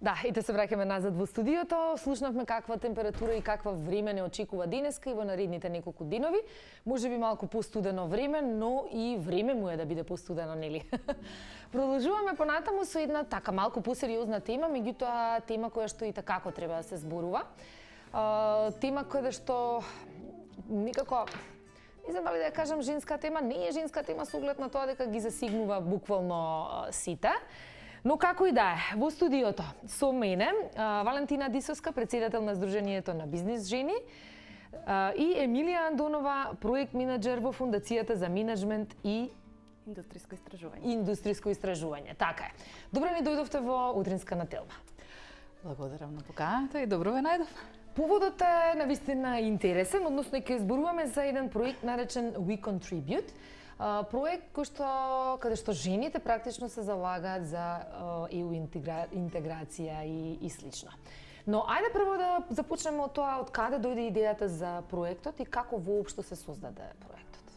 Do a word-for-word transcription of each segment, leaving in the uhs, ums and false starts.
Да, и те се враќаме назад во студиото. Слушнавме каква температура и каква време не очекува денеска и во наредните неколку денови. Може би малку постудено време, но и време му е да биде постудено, нели? Продолжуваме понатаму со една така малку посериозна тема, меѓутоа тема која што и такако треба да се зборува. А, тема која што никако не знам дали да ја кажам женска тема, не е женска тема со оглед на тоа дека ги засигнува буквално сите. Но како и да е, во студиото со мене Валентина Дисовска, председател на Сдруженијето на бизнис жени, и Емилија Андонова, проект менаџер во Фондацијата за менеджмент и индустриско истражување. Индустриско истражување, така е. Добро ни дојдовте во утринска нателба. Благодарам на поканата и добро ве најдов. Поводот е навистина интересен, односно ќе зборуваме за еден проект наречен We Contribute. Проект кој што каде што жените практично се залагаат за и у интегра, интеграција и, и слично. Но ајде прво да започнеме од тоа од каде дојде идејата за проектот и како воопшто се создаде проектот.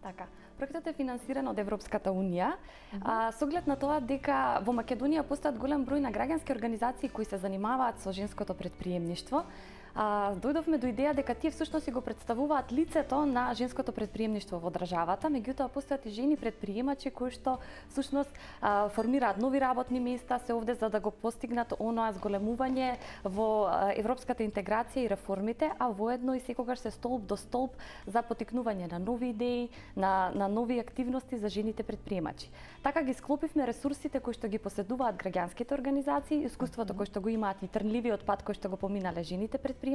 Така, проектот е финансиран од Европската унија, uh -huh. а, со оглед на тоа дека во Македонија постојат голем број на граѓански организации кои се занимаваат со женското предприемништво. А, дојдовме до идеја дека тие всушност си го представуваат лицето на женското предприемништво во државата, меѓутоа постојат и жени предприемачи кои што всушност а, формираат нови работни места, се овде за да го постигнат оноа зголемување во а, европската интеграција и реформите, а воедно и секогаш се столб до столб за поттикнување на нови идеи, на, на нови активности за жените предприемачи. Така ги склопивме ресурсите кои што ги поседуваат граѓанските организации, искуството кој што го имаат и трнливиот пат кој што го поминале жените предприемачи,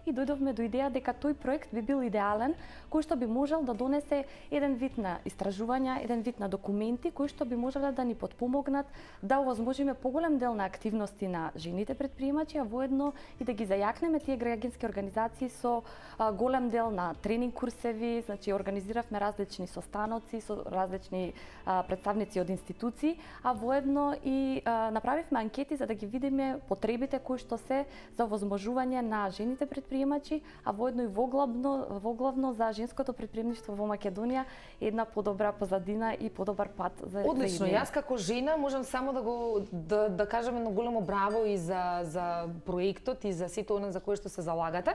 и дојдовме до идеја дека тој проект би бил идеален, кој што би можел да донесе еден вид на истражувања, еден вид на документи кои што би можеле да ни потпомогнат да овозможиме поголем дел на активности на жените предприемачи, а воедно и да ги зајакнеме тие граѓански организации со а, голем дел на тренинг курсеви, значи организиравме различни состаноци со различни а, представници од институции, а воедно и а, направивме анкети за да ги видиме потребите кои што се за овозможување на жените предприемачи, а воедно и воглавно, воглавно за женското предприемништво во Македонија една подобра позадина и подобар пат за Одлично, за јас како жена можам само да го да, да кажам едно големо браво и за за проектот и за сето она за кое што се залагате.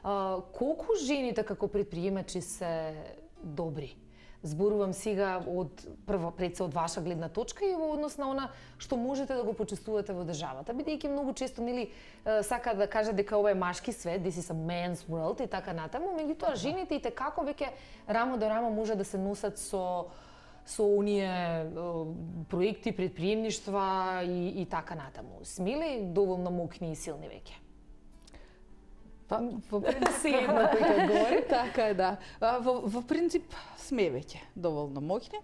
А, колку жените како предприемачи се добри? Зборувам сега од прво пред се од ваша гледна точка и во однос на она што можете да го почувствувате во државата, бидејќи многу често нели сака да кажа дека ова е машки свет, this is a man's world и така натаму, меѓутоа жените и како веќе рамо до рамо може да се носат со со оние проекти, предприемништва и, и така натаму. Сме ли доволно мокни и силни веќе? Па, во принцип, една кој говори, така е, да. Во, во принцип сме веќе доволно моќни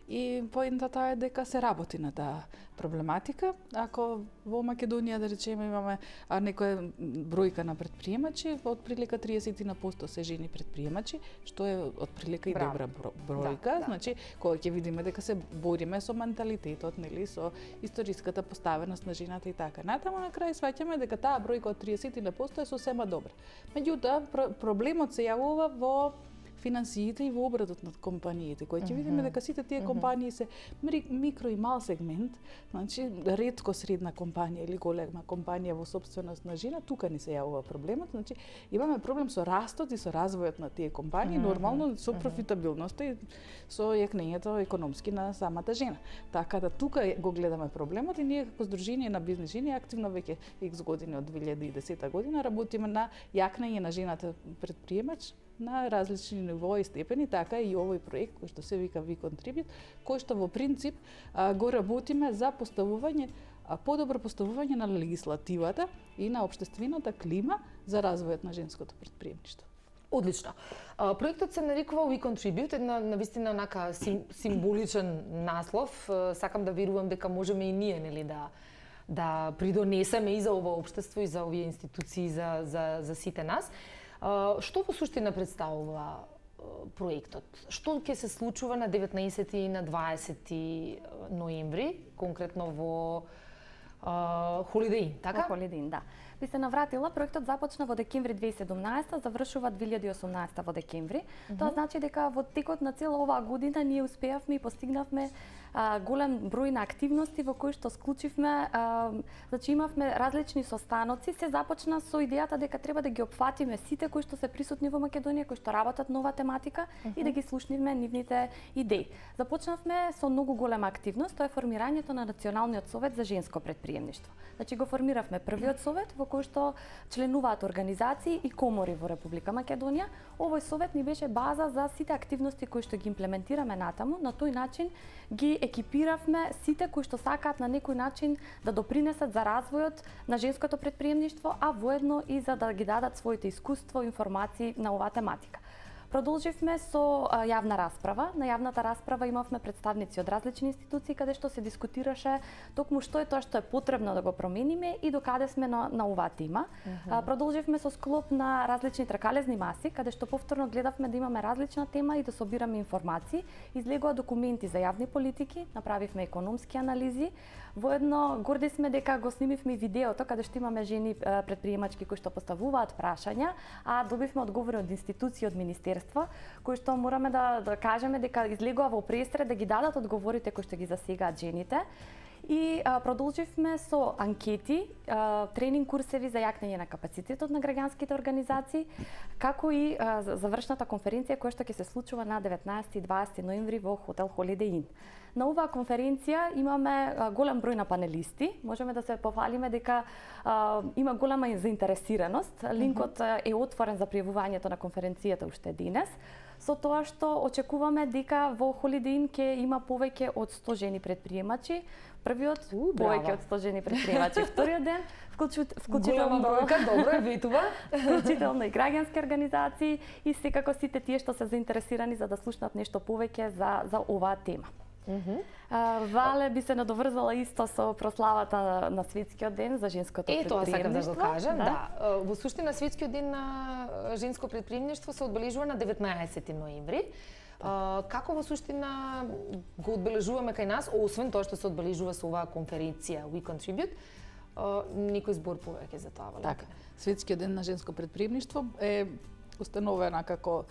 и поентата е дека се работи на таа проблематика. Ако во Македонија, да речеме, имаме а, некоја бројка на предприемачи, отприлика триесет на посто се жени предприемачи, што е отприлика и добра бројка. Да, да. Значи, кога ќе видиме дека се бориме со менталитетот, нели, со историската поставеност на жената и така натаму, на крај сваќаме дека таа бројка од триесет на посто е сосема добра. Меѓутоа, проблемот се јавува во финансиите и во обрадот над компаниите, кои ќе видиме дека сите тие компании се микро и мал сегмент, значи ретко средна компанија или голема компанија во собственост на жена, тука ни се јавува проблемот, значи имаме проблем со растот и со развојот на тие компании, нормално со профитабилноста и со јакнењето економски на самата жена. Така да тука го гледаме проблемот и ние како Сдружение на бизнис жени активно веќе икс години од две илјади и десета година работиме на јакнење на жената предприемач на различни ниво и степени, така и овој проект кој што се вика We Contribute, кој што во принцип а, го работиме за поставување а, подобро поставување на легислативата и на општествената клима за развојот на женското предприемништво. Одлично. А, проектот се нарекува We Contribute, една навистина онака сим, символичен наслов. Сакам да верувам дека можеме и ние, нели, да да придонесеме и за ова општество и за овие институции за за за сите нас. Uh, што во суштина представува uh, проектот? Што ќе се случува на деветнаесети и на дваесети ноември, конкретно во uh, Holiday Inn, така? Во Holiday Inn, да. би се навратила, проектот започна во декември две илјади и седумнаесета, завршува две илјади и осумнаесета во декември. Mm -hmm. Тоа значи дека во текот на цела оваа година ние успеавме и постигнавме а, голем број на активности во кои што склучивме, а, значи имавме различни состаноци. Се започна со идејата дека треба да ги опфатиме сите кои што се присутни во Македонија, кои што работат на оваа тематика, mm -hmm. и да ги слушнивме нивните идеи. Започнавме со многу голема активност, тоа е формирањето на Националниот совет за женско предприемништво. Значи го формиравме првиот совет во кој што членуваат организации и комори во Република Македонија. Овој совет ни беше база за сите активности кои што ги имплементираме натаму. На тој начин ги екипиравме сите кои што сакаат на некој начин да допринесат за развојот на женското предприемништво, а воедно и за да ги дадат своите искуство и информации на оваа тематика. Продолживме со а, јавна расправа. На јавната расправа имавме представници од различни институции каде што се дискутираше токму што е тоа што е потребно да го промениме и докаде сме на, на оваа тема. Uh -huh. а, продолживме со склоп на различни тркалезни маси, каде што повторно гледавме да имаме различна тема и да собираме информации. Излегоа документи за јавни политики, направивме економски анализи. Воедно горди сме дека го снимивме видеото каде што имаме жени предприемачки кои што поставуваат прашања, а добивме одговори од институции, од министерства, кои што мораме да, да кажеме дека излегува во пресред да ги дадат одговорите кои што ги засегаат жените. И а, продолживме со анкети, а, тренинг курсеви за јакнење на капацитетот на граѓанските организации, како и а, завршната конференција која што ќе се случува на деветнаесети и дваесети ноември во хотел Holiday Inn. На оваа конференција имаме а, голем број на панелисти. Можеме да се пофалиме дека а, има голема заинтересираност. Линкот mm -hmm. е отворен за пријавувањето на конференцијата уште денес. Со тоа што очекуваме дека во Holiday Inn ќе има повеќе од сто жени предприемачи. Првиот У, повеќе од сто жени предприемачи, вториот ден вклучително бројка, добро е ветува, вклучително и граѓански организации и секако сите тие што се заинтересирани за да слушнат нешто повеќе за за оваа тема. Mm -hmm. а, Вале би се надоврзала исто со прославата на, на Светскиот ден за женското е, предприемништво. Е, тоа сакам да го кажам, да. да. Во суштина Светскиот ден на женско предприемништво се одбележува на деветнаесети ноември. Uh, како во суштина го одбележуваме кај нас, освен тоа што се одбележува со оваа конференција We Contribute, uh, некој збор повеќе за тоа, Валентина? Така, Светскиот ден на женско предприемништво е установена како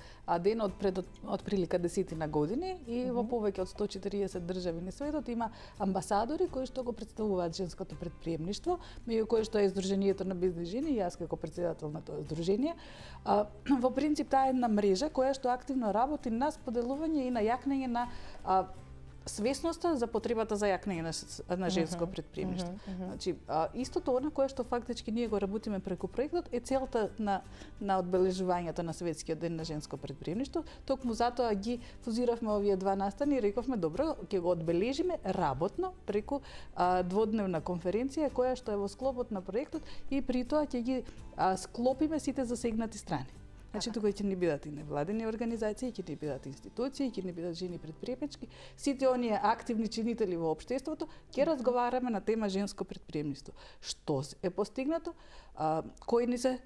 ден од пред од прилика десетина години и mm -hmm. во повеќе од сто и четириесет држави на светот има амбасадори кои што го представуваат женското предприемништво, меѓу кои што е Сдруженијето на бизнис жени и јас како претседател на тоа здружение. А, во принцип таа е една мрежа која што активно работи на споделување и на јакнење на а, свесноста за потребата за јакнење на, на женско предприемништво. Uh -huh, uh -huh. Значи, а, истото она кое што фактички ние го работиме преку проектот е целта на на одбележувањето на Светскиот ден на женско предприемништво. Токму затоа ги фузиравме овие два настани и рековме добро, ќе го одбележиме работно преку а, дводневна конференција која што е во склопот на проектот и при тоа ќе ги а, склопиме сите засегнати страни. Значи, тука ќе ни бидат и невладени организации, ќе ни бидат институции, ќе ни бидат жени предприемачки, сите оние активни чинители во општеството, ќе разговараме на тема женско предприемништво. Што е постигнато, а, кои ни се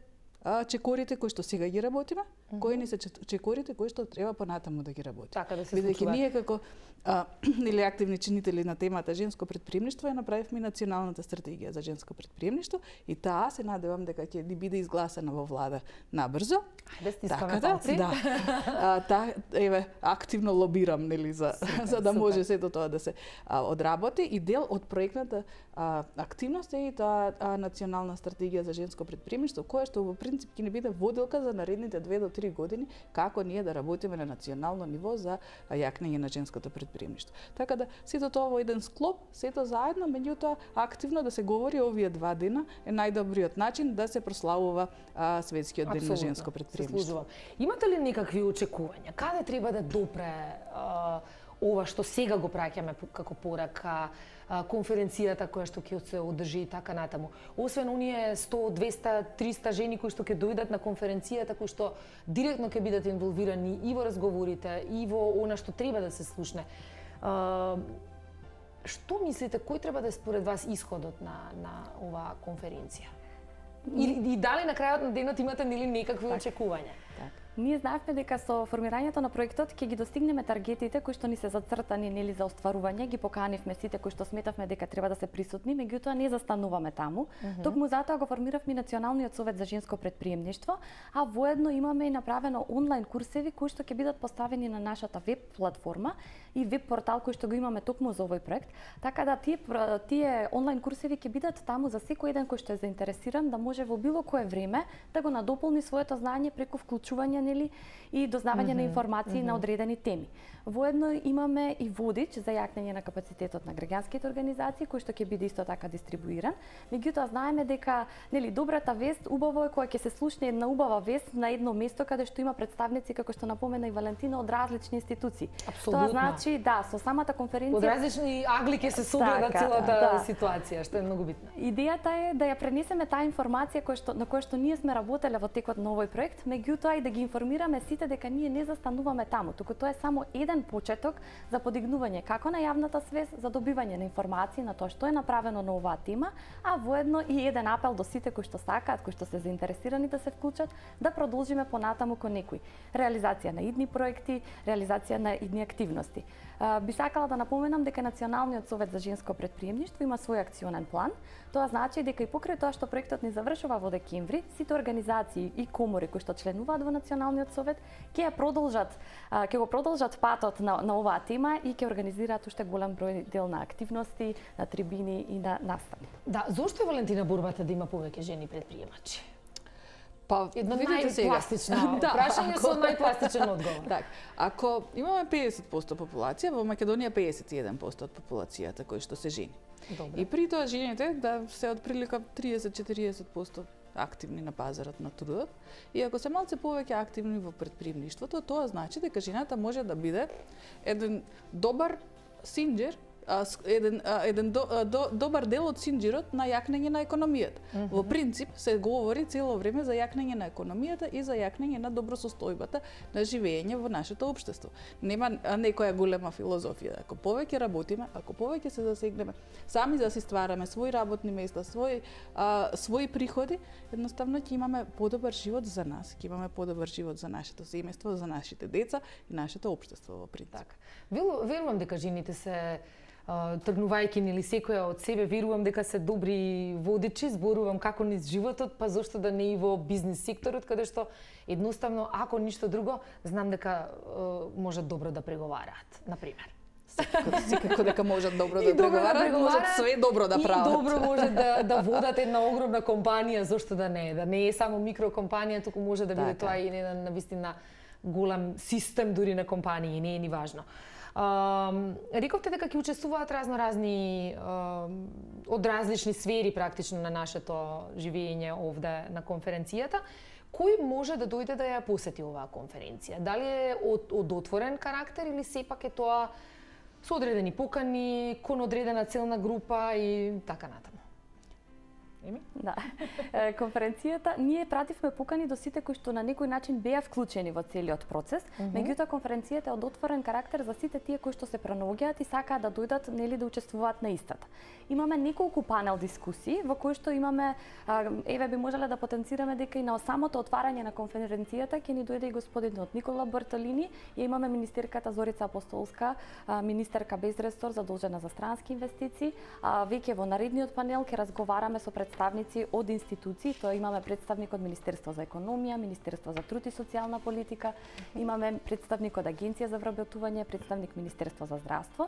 а, чекорите кои што сега ги работиме, mm -hmm. кои ни се чекорите кои што треба понатаму да ги работиме. Така да се Бидејќи ние како а, или активни чинители на темата женско предприемништво ја направивме националната стратегија за женско предприемништво и таа се надевам дека ќе ни биде изгласена во влада набрзо. Ајде стискаме така, палци. Да. А, та, еве, активно лобирам, нели, за супер, за да може сето тоа да се а, одработи и дел од проектната а, активност е и таа а, национална стратегија за женско предприемништво, која што во принцип ќе ни биде водилка за наредните две до три години како ние да работиме на национално ниво за јакнење на женското предприемништво. Така да сето тоа во еден склоп, сето заедно, меѓутоа активно да се говори овие два дена е најдобриот начин да се прославува а, Светскиот ден на женско предприемништво. Имате ли некакви очекувања? Каде треба да допре а, ова што сега го праќаме како порака, а, конференцијата која што ќе се одржи и така натаму? Освен оние сто, двеста, триста жени кои што ќе дојдат на конференцијата, кои што директно ќе бидат инволвирани и во разговорите, и во она што треба да се слушне. А, што мислите, кој треба да е според вас исходот на, на оваа конференција? И, и дали на крајот на денот имате нели некакви так, очекувања? Так. Ние знаевме дека со формирањето на проектот ќе ги достигнеме таргетите кои што ни се зацртани нели за остварување, ги поканивме сите кои што сметавме дека треба да се присутни, меѓутоа не застануваме таму. Mm -hmm. Токму затоа го формиравме Националниот совет за женско претприемништво, а воедно имаме и направено онлайн курсеви кои што ќе бидат поставени на нашата веб платформа и веб портал кој што го имаме токму за овој проект, така да тие тие онлайн курсеви ќе бидат таму за секој еден кој што е заинтересиран да може во било кое време да го надополни своето знаење преку вклучување нели и дознавање mm -hmm. на информации mm -hmm. на одредени теми. Воедно имаме и водич за јакнење на капацитетот на граѓанските организации кој што ќе биде исто така дистрибуиран. Меѓутоа знаеме дека нели добрата вест убаво е кога ќе се слушне една убава вест на едно место каде што има представници како што напомена и Валентина од различни институции. Апсолутно. Тоа значи да, со самата конференција од различни агли ќе се согледа така, целата да. ситуација, што е многу битно. Идејата е да ја пренесеме таа информација која што на која што ние сме работеле во текот на овој проект, меѓутоа и да ги информираме сите дека ние не застануваме таму, туку тоа е само еден почеток за подигнување како на јавната свест за добивање на информации на тоа што е направено на оваа тема, а воедно и еден апел до сите кои што сакаат, кои што се заинтересирани да се вклучат, да продолжиме понатаму кон некои реализација на идни проекти, реализација на идни активности. Би сакала да напоменам дека Националниот совет за женско претприемништво има свој акционен план. Тоа значи дека и покрај тоа што проектот ни завршува во декември, сите организации и комори кои што членуваат во Националниот совет ќе ја продолжат, ќе го продолжат патот на, на оваа тема и ќе организираат уште голем број дел на активности, на трибини и на настани. Да, зошто е Валентина борбата да има повеќе жени предприемачи? Па, една видите најпластична да, прашање ако... со најпластичен одговор. Так, ако имаме педесет проценти популација, во Македонија педесет и еден проценти од популацијата кои што се жени. Добре. И при тоа жените да се од прилика тридесет до четириесет проценти активни на пазарот на трудот. И ако се малце повеќе активни во претприемништвото, тоа значи дека жената може да биде еден добар синџер, еден еден до, до, добар дел од синџирот на јакнење на економијата. Mm -hmm. Во принцип се говори цело време за јакнење на економијата и за јакнење на добросостојбата на живење во нашето општество. Нема некоја голема филозофија. Ако повеќе работиме, ако повеќе се засегнеме, сами да си ствараме своји работни места, своји а, своји приходи, едноставно ќе имаме подобар живот за нас, ќе имаме подобар живот за нашето семејство, за нашите деца и нашето општество во принцип. Така. Верувам дека жените се тргнувајќи нели секоја од себе, верувам дека се добри водичи, зборувам како низ животот, па зошто да не и во бизнис секторот, каде што едноставно, ако ништо друго, знам дека е, можат добро да преговараат, на пример. Секако дека можат добро да преговараат, можат све добро да прават. И добро може да, да водат една огромна компанија, зошто да не е, да не е само микрокомпанија, туку може да биде тоа и еден навистина голем систем дури на компании, не е ни важно. Uh, рековте дека ќе учествуваат разно-разни uh, од различни сфери практично на нашето живење овде на конференцијата. Кој може да дојде да ја посети оваа конференција? Дали е од, од отворен карактер или сепак е тоа со одредени покани, кон одредена целна група и така натаму? Еми? Да. Конференцијата, ние пративме покани до сите кои што на некој начин беа вклучени во целиот процес, mm -hmm. меѓутоа конференцијата е од отворен карактер за сите тие кои што се пренаоѓаат и сакаат да дојдат нели да учествуваат на истата. Имаме неколку панел дискусии во кои што имаме, еве би можеле да потенцираме дека и на самото отварање на конференцијата ќе ни дојде и господинот Никола Барталини, и имаме министерката Зорица Апостолска, министерка без ресор задолжена за странски инвестиции. Веќе во наредниот панел ќе разговараме со представници од институции, тоа имаме представник од Министерство за економија, Министерство за труд и социјална политика, имаме представник од Агенција за вработување, представник Министерство за здравство.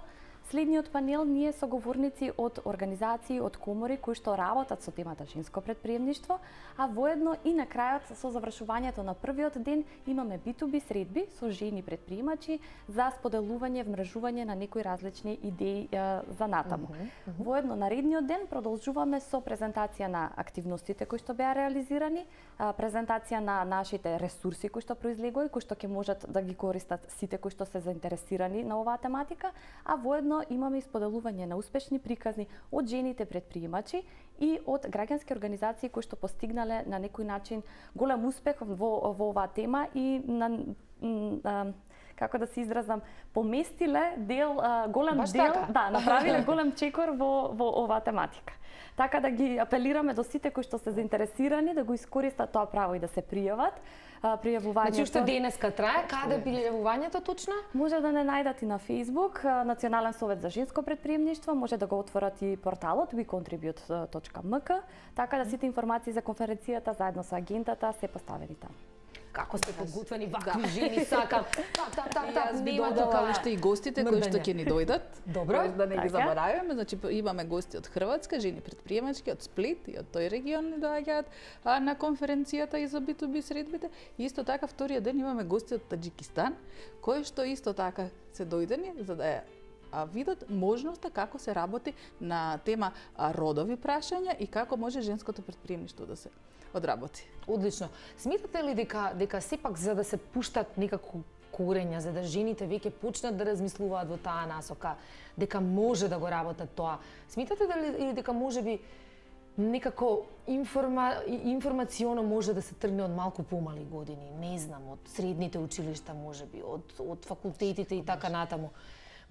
Следниот панел ние со говорници од организации, од комори кои што работат со темата женско претприемништво, а воедно и на крајот со завршувањето на првиот ден имаме би ту би средби со жени претприемачи за споделување, вмрежување на некои различни идеи е, за натаму. Mm -hmm. Воедно наредниот ден продолжуваме со презентација на активностите кои што беа реализирани, презентација на нашите ресурси кои што произлегоа и кои што ќе можат да ги користат сите кои што се заинтересирани на оваа тематика, а воедно имаме и споделување на успешни приказни од жените претприемачи и од граѓански организации кои што постигнале на некој начин голем успех во, во оваа тема и на, на како да се изразам, поместиле дел, а, голем Баш дел, така. да, направиле голем чекор во, во оваа тематика. Така да ги апелираме до сите кои што се заинтересирани да го искористат тоа право и да се пријават. Пријавувањето... Значи, уште денеска трае, каде е пријавувањето точно? Може да не најдат и на Facebook, Национален совет за женско претприемништво, може да го отворат и порталот we contribute точка m k, така да сите информации за конференцијата заедно со агентата се поставени таму. Како сте подготвени вакви жени, сакам. Тап, тап, тап, тап, Јас би нема додала тука уште и гостите кои што мрдање. ќе ни дојдат. Добро. Тоест да не ги Така. забораваме, значи имаме гости од Хрватска, жени предприемачки, од Сплит и од тој регион ни доаѓаат а, на конференцијата и за би ту би средбите. И исто така вториот ден имаме гости од Таџикистан, кои што исто така се дојдени за да ја а видат можноста како се работи на тема а, родови прашања и како може женското предприемништво да се одработи. Одлично. Смитате ли дека дека сепак за да се пуштат некако корења, за да жените веќе почнат да размислуваат во таа насока, дека може да го работат тоа, смитате дали или дека можеби некако информа, информационо може да се тргне од малку помали години, не знам, од средните училишта можеби, од од факултетите и така натаму.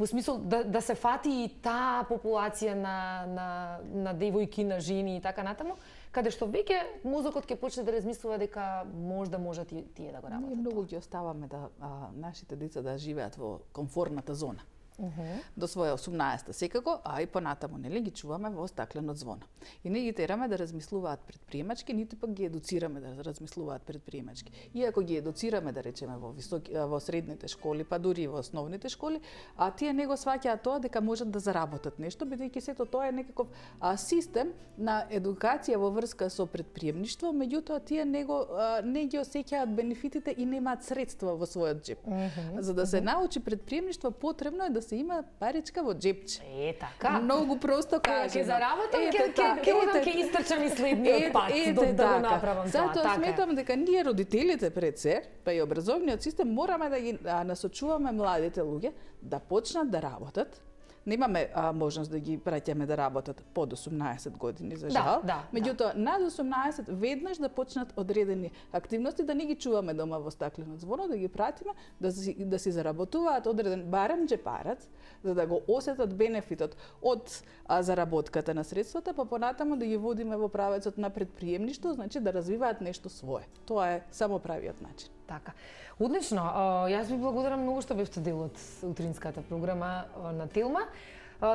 Во смисол да, да се фати и таа популација на, на, на девојки, на жени и така натаму, каде што веќе мозокот ќе почне да размислува дека можда можат и тие да го работат. Ние многу ги оставаме да а, нашите деца да живеат во комфортната зона. Uh-huh. До своја осумнаесета секако, а и понатаму, нели, ги чуваме во стакленот звона. И не ги тераме да размислуваат предприемачки, ниту пак ги едуцираме да размислуваат предприемачки. Иако ги едуцираме, да речеме, во високи, во средните школи, па дури и во основните школи, а тие не го сваќаат тоа дека можат да заработат нешто, бидејќи сето тоа е некаков а, систем на едукација во врска со предприемништво, меѓутоа тие не го а, не ги осеќаат бенефитите и немаат средства во својот џеп. Uh-huh. За да се научи предприемништво, потребно е да се има паричка во џепче. Е, така. Многу просто кажано. Ќе заработам, ќе ќе ќе одам ќе истрчам и следниот пат до да го направам тоа. Затоа така. сметам дека ние родителите пред се, па и образовниот систем мораме да ги а, насочуваме младите луѓе да почнат да работат. Немаме а, можност да ги праќаме да работат под осумнаесет години, за жал. Да, да, Меѓутоа, да. над осумнаесет веднаш да почнат одредени активности, да не ги чуваме дома во стакленот звоно, да ги пратиме, да си, да си заработуваат одреден барем џепарац, за да го осетат бенефитот од а, заработката на средствата, па понатаму да ги водиме во правецот на предприемништво, значи да развиваат нешто свое. Тоа е само правиот начин. Така. Одлично. Јас ви благодарам многу што бевте дел од утринската програма на Телма.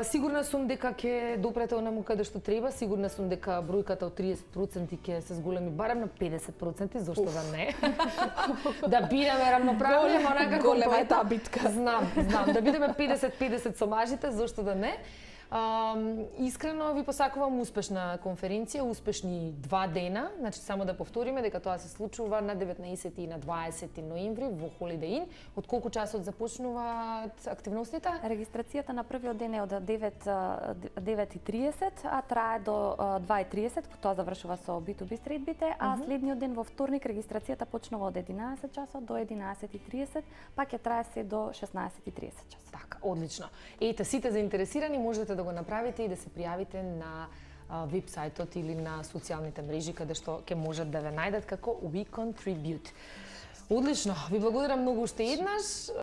Сигурна сум дека ќе допрете онаму каде што треба, сигурна сум дека бројката од триесет проценти ќе се зголеми барем на педесет проценти, зошто да не? Да бидеме равноправни, ама некако голема е таа битка. Знам, знам, да бидеме педесет педесет со мажите, зошто да не? Um, искрено ви посакувам успешна конференција, успешни два дена. Значи само да повториме дека тоа се случува на деветнаесети и на дваесети ноември во Holiday Inn. Од колку часот започнуваат активностите? Регистрацијата на првиот ден е од девет и тридесет, а трае до два и тридесет, тоа завршува со би ту би средбите, а Uh-huh. следниот ден во вторник регистрацијата почнува од единаесет часот до единаесет и тридесет, па ќе трае се до шеснаесет и тридесет часот. Така, одлично. Ете, сите заинтересирани можете да го направите и да се пријавите на веб-сајтот или на социјалните мрежи каде што ќе можат да ве најдат како We Contribute. Одлично, ви благодарам многу уште еднаш.